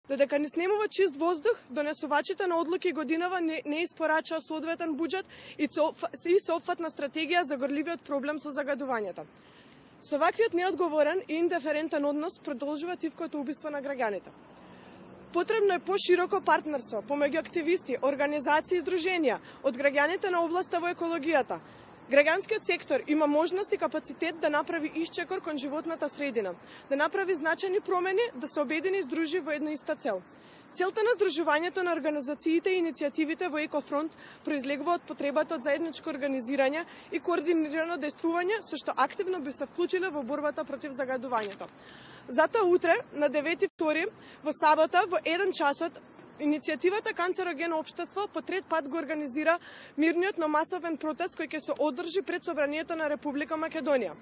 Додека не снемува чист воздух, донесувачите на одлуки годинава не испорачаа соодветен буџет и соопфатна стратегија за горливиот проблем со загадувањето. Со ваквиот неодговорен и индиферентен однос продолжува тивкото убиство на граѓаните. Потребно е пошироко партнерство помеѓу активисти, организации и здруженија од граѓаните на областа во екологијата. Граѓанскиот сектор има можност и капацитет да направи исчекор кон животната средина, да направи значајни промени, да се обедини и здружи во една иста цел. Целта на здружувањето на организациите и иницијативите во Екофронт произлегува од потребата од заедничко организирање и координирано действување со што активно би се вклучиле во борбата против загадувањето. Затоа утре, на 9.2, во сабота, во 1 часот, иницијативата Канцерогено општество по трет пат го организира мирниот, но масовен протест кој ќе се одржи пред Собранието на Република Македонија.